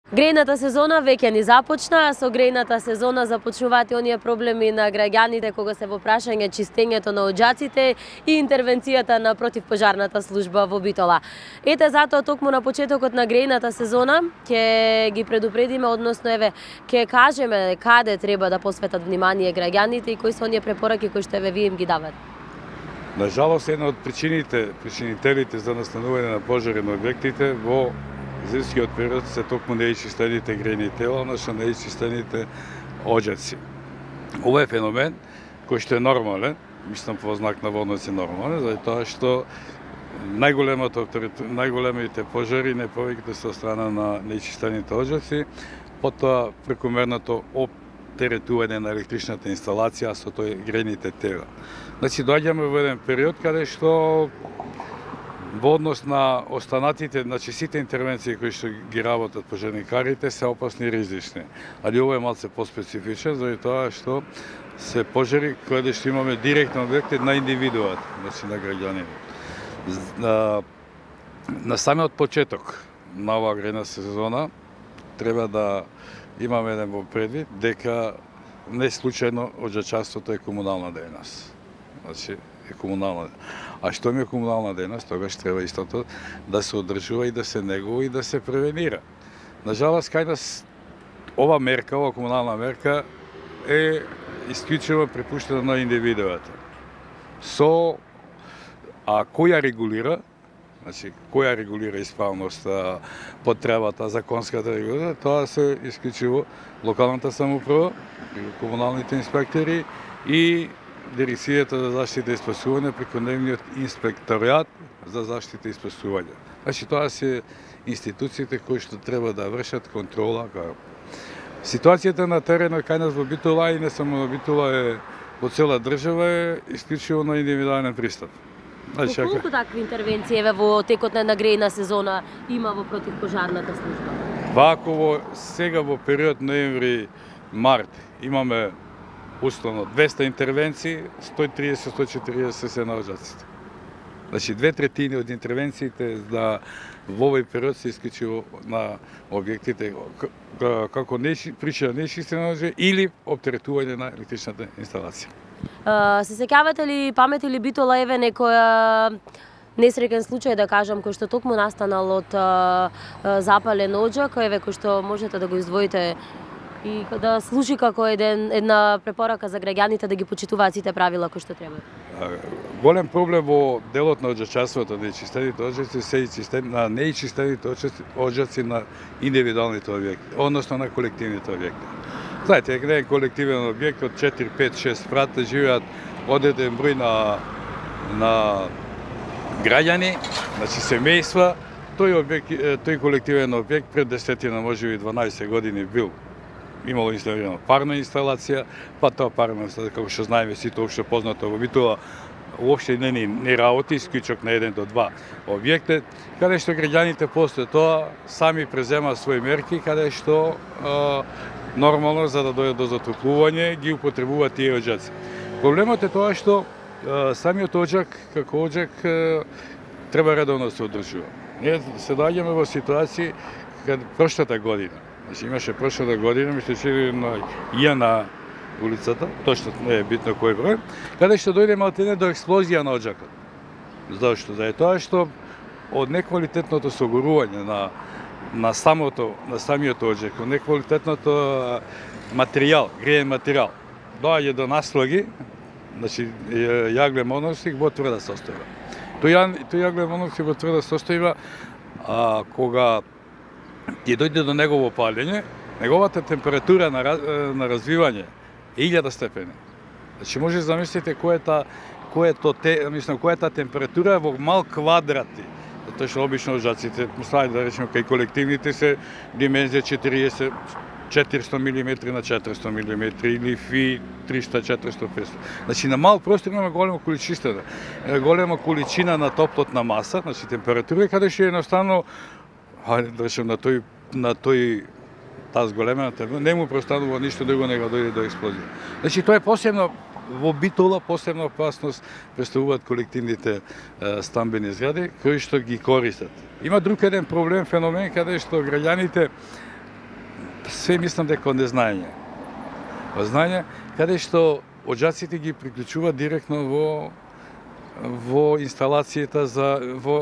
Грејната сезона веќе ни започна, со грејната сезона започнуваат и оние проблеми на граѓаните кога се во прашање чистењето на оџаците и интервенцијата на противпожарната служба во Битола. Ете затоа токму на почетокот на грејната сезона ќе ги предупредиме, односно ќе кажеме каде треба да посветат внимание граѓаните и кои се оние препораки кои што вие им ги дават. На жалост, една од причинителите за настанување на пожари на објектите во зимскиот период се токму неичистените грејни тела, односно неичистените оџаци. Ова е феномен кој што е нормален, мислам по знак на водноци нормален, заради тоа што најголемите пожари не повеќе се од страна на неичистените оџаци, потоа прекомерното оптеретување на електричната инсталација со тој грејните тела. Значи доаѓаме во еден период каде што во однос на останатите, значи сите интервенции кои што ги работат пожарникарите се опасни и ризични. Али ова е малце поспецифичен, заради тоа што се пожари кои што имаме директно објекти на индивидуат, значи на граѓанин. На самиот почеток на оваа грејна сезона треба да имаме еден во предвид дека не случајно оџачарството е комунална дејност. Значи е комунална. А што ми е комунална дејност, тогаш треба истото да се одржува и да се негува и да се превенира. На жалост, кај нас ова мерка, ова комунална мерка е исклучиво препуштена на индивидуата. Кој ја регулира, значи кој ја регулира исправноста, потребата, законската регулира, тоа се исклучиво локалната самоуправа, комуналните инспектори и Дирекцијата за заштита и спасување преку нивниот инспекторијат за заштита и спасување. Значи тоа се институциите кои што треба да вршат контрола. Ситуацијата на теренот кај нас во Битола и не само на Битола е во цела држава е исклучиво на индивидуален пристап. Значи, колку такви интервенции во текот на грејна сезона има во противпожарната служба? Вако сега во период ноември-март имаме условно 200 интервенции, 130-140 се на оџаците. Значи 2/3 од интервенциите во овој период се исклучиво на објектите како причина неичистена оџаци или оптеретување на електричната инсталација. Се сеќавате ли, памети ли Битола некоја несреќен случај, да кажам, кој што токму настанал од запален оџак, кој што можете да го издвоите и да служи како една препорака за граѓаните да ги почитуваат сите правила кои што треба? Голем проблем во делот на оџачарството, неичистените оџаци се неичистените оџаци на индивидуалните објекти, односно на колективните објекти. Знаете, еден колективен објект од 4, 5, 6 спрата живеат одреден број на граѓани, значи семејства. Тој колективен објект пред 10, можеби 12 години бил имало инсталирана парна инсталација, па тоа парна инсталација, како што знаеме сите општо познато во Битола, уопште не работи, исклучок на 1 до 2 објекти, каде што граѓаните после тоа сами преземаат своји мерки, каде што нормално за да дојдат до затоплување ги употребуваат тие оџаци. Проблемот е тоа што самиот оџак како оџак треба редовно да се одржува. Ние се доаѓаме во ситуација каде прошлата година, значи имаше прошлата година, мисля че на улицата, точно не е битно кој број, каде што дојде малтене до експлозија на оџакот. Зашто? Заради тоа што од неквалитетното согорување на самиот оџак, од неквалитетното материјал, греен материјал, доаѓа до наслаги, значи јаглен моноксид во тврда состојба. Тој јаглен моноксид во тврда состојба, кога ќе дојде до негово палење, неговата температура на развивање е 1000 степени. Значи може да замислите која е таа температура во мал квадрати. Затоа што обично оџаците, да речеме кај колективните се димензија 400 мм на 400 мм или фи 300-400-500. Значи на мал простор имаме голема количина на топлотна маса, значи температура, каде што едноставно на таа зголемена температура не му простанува ништо друго него дојде до експлозија. Значи тоа е посебно во Битола, посебна опасност представуваат колективните стамбени згради кои што ги користат. Има друг еден проблем, феномен каде што граѓаните Све мислам дека од незнаење. Од знаење, каде што оџаците ги приклучуваат директно во инсталацијата во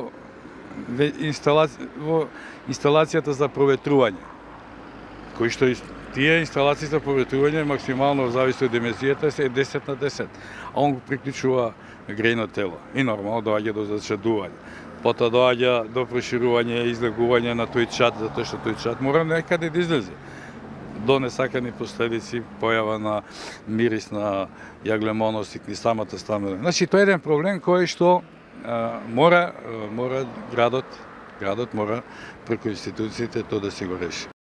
инсталацијата за проветрување. Кои што тие инсталации за проветрување максимално зависи од емисијата се 10 на 10, а он го приклучува грејно тело и нормално доаѓа до зачадување. Потоа доаѓа до проширување и излегување на тој чад, затоа што тој чад мора некаде да излезе. До несакани последици, појава на мирис на јаглемоносик и самата станува. Значи, тоа е еден проблем кој што мора градот мора преку институциите тоа да се го реши.